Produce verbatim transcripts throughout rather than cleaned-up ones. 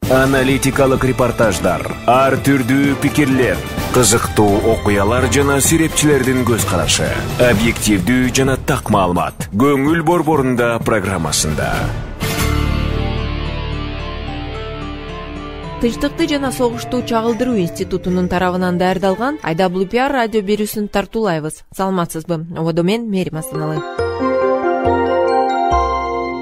Аналитикалык репортаждар, ар түрдүү пикирлер, кызыктуу окуялар жана серепчилердин көз карашы, объективдүү жана так маалымат. Көңүл борборунда программасында. Тынчтыкты жана согушту чагылдыруу институтунун тарабынан даярдалган ай дабл ю пи ар радио берүүсүн тартуулайбыз. Саламатсызбы? Ободо мен Мерим Асаналы.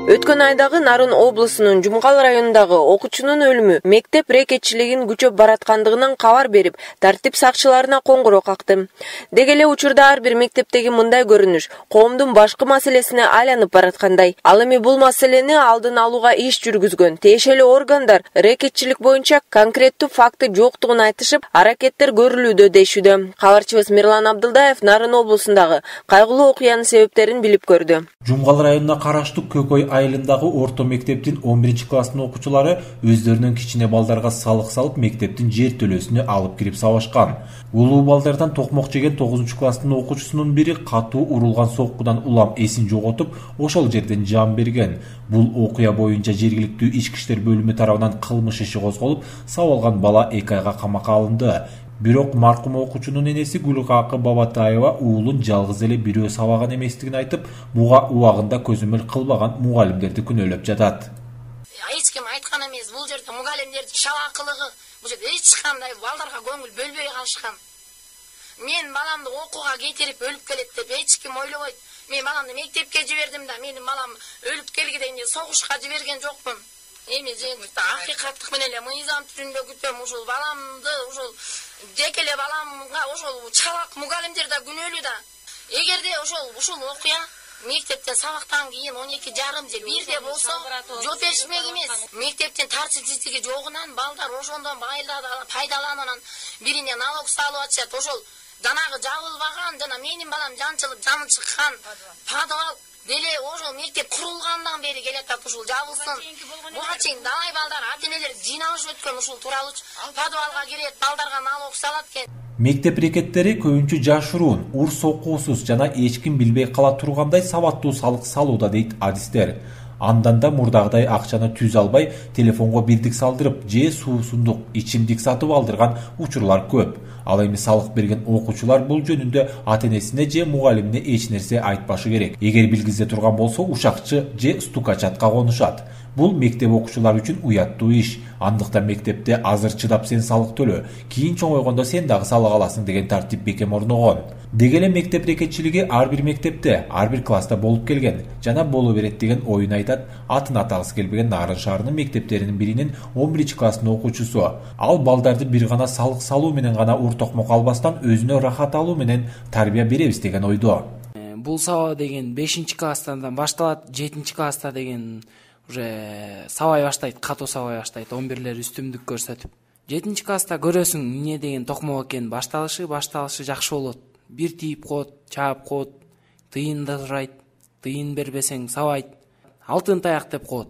Өткөн айдагы Нарын облусунун Жумгал районундагы окуучунун өлүмү мектеп рекетчилигин күчөп бараткандыгынан кабар берип, тартип сакчыларына коңгуроо какты. Деги эле учурда ар бир мектептеги мындай көрүнүш коомдун башкы маселесине айланып бараткандай. Ал эми бул маселени алдын алууга иш жүргүзгөн тиешелүү органдар рекетчилик боюнча конкреттүү факты жоктугун айтышып, аракеттер көрүлүүдө дешүүдө. Кабарчыбыз Мирлан Абдылдаев Нарын облусундагы кайгылуу окуянын себептерин билип көрдү. Жумгал районуна караштуу Көкөй айылындагы орто мектептин он биринчи класстын окуучулары өздөрүнүн кичине балдарга салык салып мектептин жер төлөөсүнө алып кирип сабашкан. Улуу балдардан токмок жеген тогузунчу класстын окуучусунун бири катуу урулган соккудан улам эсин жоготуп, ошол жерден жан берген. Бул окуя боюнча жергиликтүү ички иштер бөлүмү тарабынан кылмыш иши козголуп, сабалган бала эки айга камакка алынды. Бирок маркум окуучунун энеси Гүлкакы Бабатаева уулун жалгыз эле бирөө сабаган эместигин айтып, буга убагында көзөмөл кылбаган мугалимдерди күнөөлөп жатат. Эч ким айткан эмес, бул жерде мугалимдердин шалакылыгы, бул жерде эч кандай балдарга көңүл бөлбөй калышкан. Мен баламды окууга кетирип өлүп келет деп эч ким ойлобойт. Мен баламды мектепке жибердим да, менин балам өлүп келгенде согушка жиберген жокмун. Эми жеңилдикти акыйкаттык менен эле мыйзам түрүндө күтөм. Ушул баламды, ушул жеке эле баламга ошол чалак мугалимдер да күнөөлүү да. Эгерде ошол ушул окуя мектептен сабактан кийин он эки жарым же бирде болсо, жооп беришмек эмес. Мектептин тартипсиздиги жогунан балдар ошондон пайдаланып, бирине налог салып атышат. Ошол жанагы жабылбаган жана менин балам жанчылып жаны чыккан подвал деле ошол мектеп курулгандан бери келатат, ушул жабылсын. Буга чейин далай балдар ата-энелер жыйналышып өткөн, ушул тууралуу подвалга кирет, балдарга налог салат экен. Мектеп рекеттери көбүнчө жашыруун, ур сокуусуз жана эч ким билбей кала тургандай сабаттуу салык салууда дейт адистер. Андан да мурдагыдай акчаны түз албай, телефонго бирдик салдырып, же суусундук ичимдик сатып алдырган учурлар көп. Ал эми салык берген окуучулар бул жөнүндө ата-энесине же мугалимине эч нерсе айтпашы керек. Эгер билгизе турган болсо, ушакчы же стукачатка конушат. Бул мектеп окуучулары үчүн уяттуу иш. Андыктан мектепте азыр чыдап сен салык төлөө, кийин чоңойгондо сен дагы салык аласың деген тартип бекем орногон. Деги эле мектеп рекетчилиги ар бир мектепте, ар бир класста болуп келген жана боло берет деген оюн айтат атын атагысы келбеген Нарын шаарынын мектептеринин биринин он биринчи класстын окуучусу. Ал балдарды бир гана салык салуу менен гана ур токмок албастан өзүнө рахат алуу менен тарбия беребиз деген ойдо. Бул сабак деген бешинчи класстан башталат, жетинчи класста деген уже сабай баштайт, катуу сабай баштайт, он бирлер үстүмдүк көрсөтүп. жетинчи класста көрөсүң эмне деген токмок экен, башталышы, башталышы жакшы болот. Бир тийип коет, чаап коет, тыйында турайт, тыйын бербесең сабайт, алтын таяк деп коет.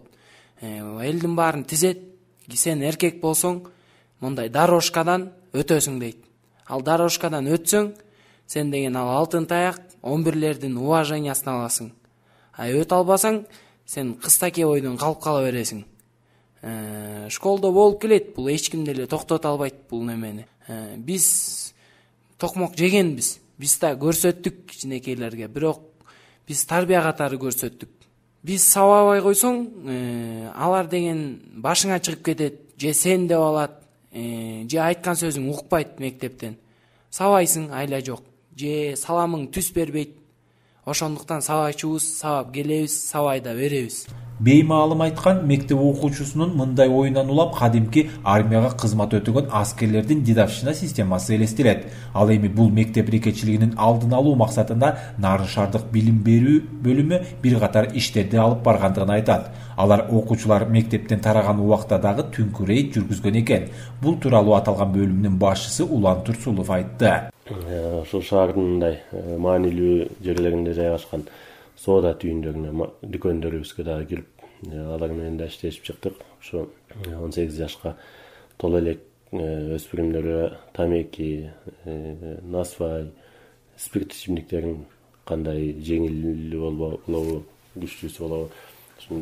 Элдин баарын тизет, сен эркек болсоң, мындай дорожкадан өтөсүң дейт. Ал дорожкадан өтсөң, сен деген ал алтын таяк, он бирлердин уважениясын аласың. А өтө албасаң, сен кыстаки ойдон калып кала бересиң. Э, школдо болуп келет, бул эч ким деле токтото албайт бул немени. Э, биз токмок жегенбиз. Биз да көрсөттүк кичинекейлерге, бирок биз тарбия катары көрсөттүк. Биз сабабай койсоң, э, алар деген башыңа чыгып кетет, же сен деп алат, э, же айткан сөзүң укпайт мектептен. Сабайсың, айла жок, же саламың түс бербейт. Ошондуктан сабайчубуз, сабап келебиз, сабай да беребиз. Беймаалым айткан мектеп окуучусунун мындай оюнан улам кадимки армияга кызмат өтөгөн аскерлердин дедовщина системасы элестелет. Ал эми бул мектеп рекетчилигинин алдын алуу максатында Нарын шаардык билим берүү бөлүмү бир катар иштерди алып баргандыгын айтат. Алар окуучулар мектептен тараган убакта дагы түнкү рейд жүргүзгөн экен. Бул тууралуу аталган бөлүмдүн башчысы Улан Турсулов айтты. Ушул шаардын мындай маанилүү жерлеринде жайгашкан соода түйүндөрүнө, дүкөндөрүбүзгө дагы кирип, алар менен да иштешип чыктык. Ушу он сегиз жашка толо элек өспүрүмдөргө тамеки, насвай, спирт ичимдиктерин кандай жеңил болобу, күчтүүсү болобу,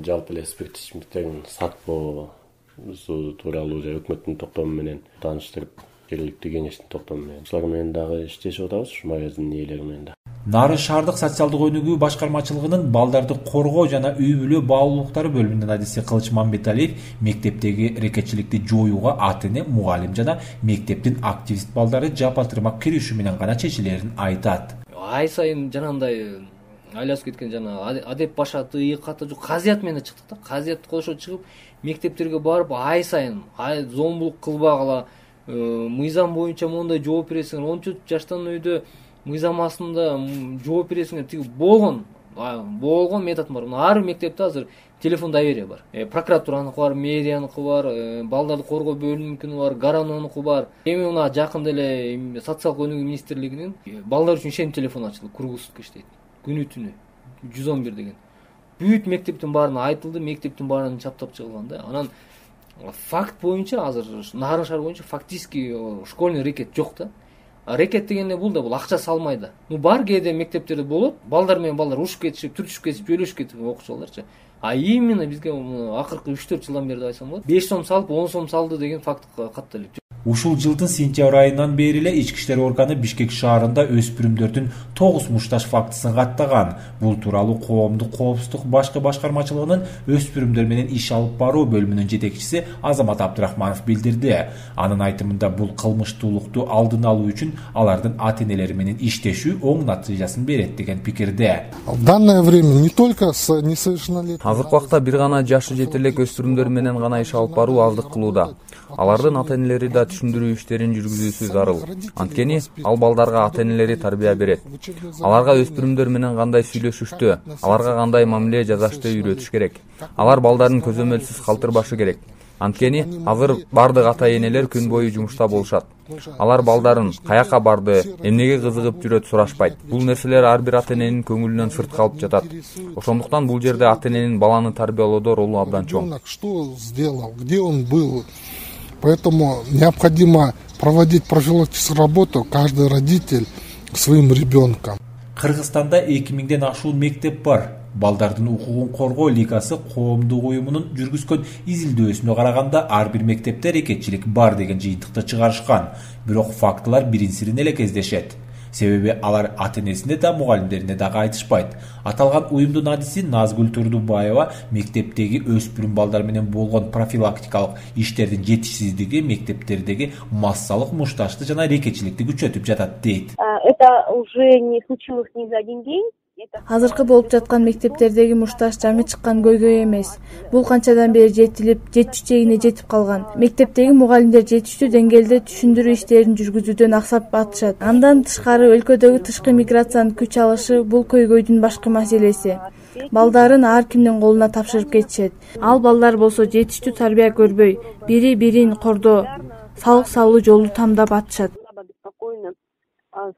жалпы эле спирт ичимдиктерин сатпоо, тууралуу уже өкмөттүн токтому менен тааныштырып, жергиликтүү кеңештин токтому менен ушулар менен дагы иштешип атабыз, ушу магазиндин ээлери менен да. Нарын шаардык социалдык өнүгүү башкармачылыгынын балдарды коргоо жана үй бүлө баалуулуктары бөлүмүнүн адиси Кылыч Мамбеталиев мектептеги рекетчиликти жоюуга ата эне, мугалим жана мектептин активист балдары жапа-тырмак киришүү менен гана чечилерин айтат. Ай сайын жанагындай айласып кеткен жана адеп башаты, ыйыкаты жок казият менен чыктык да. Казиятты кошо чыгып мектептерге барып ай сайын зомбулук кылбагыла, мыйзам боюнча мондай жооп бересиңер, он төрт жаштан өйдө мыйзам астында жооп бересиңер, тиги болгон болгон метод бар. Ар мектепте азыр телефон доверия бар. Прокуратураныкы бар, мэрияныкы бар, балдарды коргоо бөлүмүнүкү бар, гаранонуку бар. Эми мына жакында эле социалдык өнүгүү министрлигинин балдар үчүн ишеним телефону ачылды, круглосутка иштейт. Күнү түнү жүз он бир деген. Бүт мектептин баарына айтылды, мектептин баарынан чаптап чыгылган да. Анан факт боюнча азыр Нарын шаар боюнча фактически школьный рекет жок да. Рекет дегенде бул да бул акча салмай да. Ну бар кээде мектептерде болот, балдар менен балдар ушуп кетишип, түртүшүп кетип, жөлөшүп кетип окуучуларчы. А именно бизге акыркы үч төрт жылдан бери деп айтсам болот. беш сом салып, он сом салды деген факт катты эле. Ушул жылдын сентябрь айынан бери эле ички иштер органы Бишкек шаарында өспүрүмдөрдүн тогуз мушташ фактысын каттаган. Бул тууралуу коомдук коопсуздук башкы башкармачылыгынын өспүрүмдөр менен иш алып баруу бөлүмүнүн жетекчиси Азамат Абдрахманов билдирди. Анын айтымында бул кылмыштуулукту алдын алуу үчүн алардын ата энелери менен иштешүү оң натыйжасын берет деген пикирде. В данное время не только с несовершеннолетними. Азыркы убакта бир гана жашы жете элек өспүрүмдөр менен гана иш алып баруу аздык кылууда. Алардын ата энелери да түшүндүрүү иштерин жүргүзүүсү зарыл. Анткени ал балдарга ата энелери тарбия берет. Аларга өспүрүмдөр менен кандай сүйлөшүштү, аларга кандай мамиле жасашты үйрөтүш керек. Алар балдарын көзөмөлсүз калтырбашы керек. Анткени азыр бардык ата энелер күн бою жумушта болушат. Алар балдарын каяка барды, эмнеге кызыгып жүрөт сурашпайт. Бул нерселер ар бир ата эненин көңүлүнөн сырт калып жатат. Ошондуктан бул жерде ата эненин баланы тарбиялоодо ролу абдан чоң. Что сделал, где он был? Поэтому необходимо проводить профилактическую работу каждый родитель своим ребенком. Кыргызстанда эки миңден ашуун мектеп бар. Балдардын укугун коргоо лигасы коомдук уюмунун жүргүзгөн изилдөөсүнө караганда ар бир мектепте рекетчилик бар деген жыйынтыкты чыгарышкан. Бирок фактылар бирин-сирин эле кездешет. Себеби алар ата энесине да мугалимдерине дагы айтышпайт. Аталган уюмдун адиси Назгүл Турдубаева мектептеги өспүрүм балдар менен болгон профилактикалык иштердин жетишсиздиги мектептердеги массалык мушташты жана рекетчиликти күчөтүп жатат дейт. Это уже не случилось ни за один день. Азыркы болуп жаткан мектептердеги мушташ жаңы чыккан көйгөй эмес. Бул канчадан бери жетилип, жетиш чегине жетип калган. Мектептеги мугалимдер жетиштүү деңгээлде түшүндүрүү иштерин жүргүзүүдөн аксап атышат. Андан тышкары өлкөдөгү тышкы миграциянын күч алышы бул көйгөйдүн башкы маселеси. Балдарын ар кимдин колуна тапшырып кетишет. Ал балдар болсо жетиштүү тарбия көрбөй, бири-бирин кордоо, салык салуу жолу тандап атышат.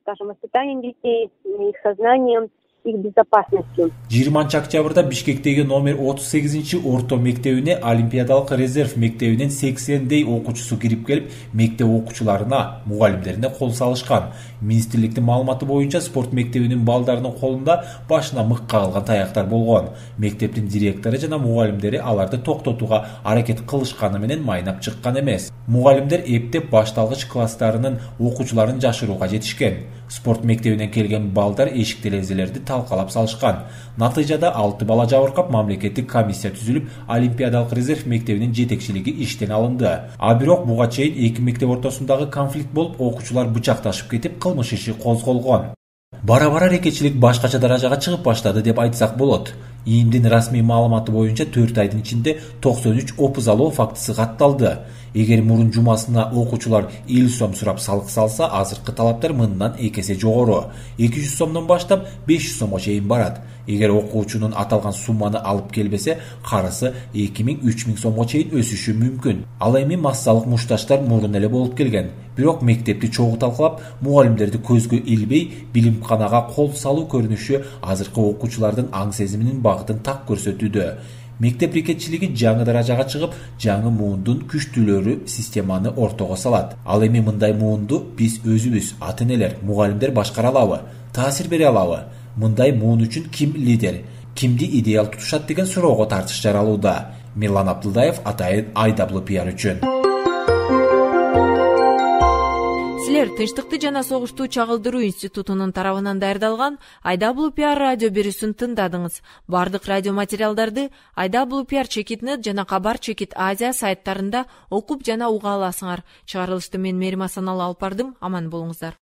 Скажем, воспитанием детей, их сознанием, их безопасностью. жыйырманчы октябрда Бишкектеги номер отуз сегизинчи орто мектебине Олимпиадалык резерв мектебинин сексендей окуучусу кирип келип, мектеп окуучуларына, мугалимдерине кол салышкан. Министрликтин маалыматы боюнча спорт мектебинин балдарынын колунда башына мык кагылган таяктар болгон. Мектептин директору жана мугалимдери аларды токтотууга аракет кылышканы менен майнап чыккан эмес. Мугалимдер эптеп башталгыч класстарынын окуучуларын жашырууга жетишкен. Спорт мектебинен келген балдар эшик терезелерди талкалап салышкан. Натыйжада алты бала жабыркап мамлекеттик комиссия түзүлүп, Олимпиадалык резерв мектебинин жетекчилиги иштен алынды. А бирок буга чейин эки мектеп ортосундагы конфликт болуп, окуучулар бычакташып кетип, кылмыш иши козголгон. Бара-бара рекетчилик башкача даражага чыгып баштады деп айтсак болот. ИИМдин расмий маалыматы боюнча төрт айдын ичинде токсон үч опуз алуу фактысы катталды. Эгер мурун жумасына окуучулар элүү сом сурап салык салса, азыркы талаптар мындан эки эсе жогору. эки жүз сомдон баштап беш жүз сомго чейин барат. Эгер окуучунун аталган сумманы алып келбесе, карысы эки миң үч миң сомго чейин өсүшү мүмкүн. Ал эми массалык мушташтар мурун эле болуп келген. Бирок мектепти чогуу талкалап, мугалимдерди көзгө илбей, билимканага кол салуу көрүнүшү азыркы окуучулардын аң сезиминин багытын так көрсөтүүдө. Мектеп рекетчилиги жаңы даражага чыгып, жаңы муундун күчтүүлөрү системаны ортого салат. Ал эми мындай муунду биз өзүбүз, ата энелер, мугалимдер башкара алабы, таасир бере алабы? Мындай муун үчүн ким лидер, кимди идеал тутушат деген суроого тартыш жаралууда. Мирлан Абдылдаев, Атайын ай дабл ю пи ар үчүн. Силер Тынчтыкты жана согушту чагылдыруу институтунун тарабынан даярдалган ай дабл ю пи ар радио берүүсүн тыңдадыңыз. Бардык радио материалдарды ай дабл ю пи ар чекит нет жана Кабар чекит Азия сайттарында окуп жана уга аласыңар. Чыгарылышты мен Мерим Асаналы алып бардым. Аман болуңуздар.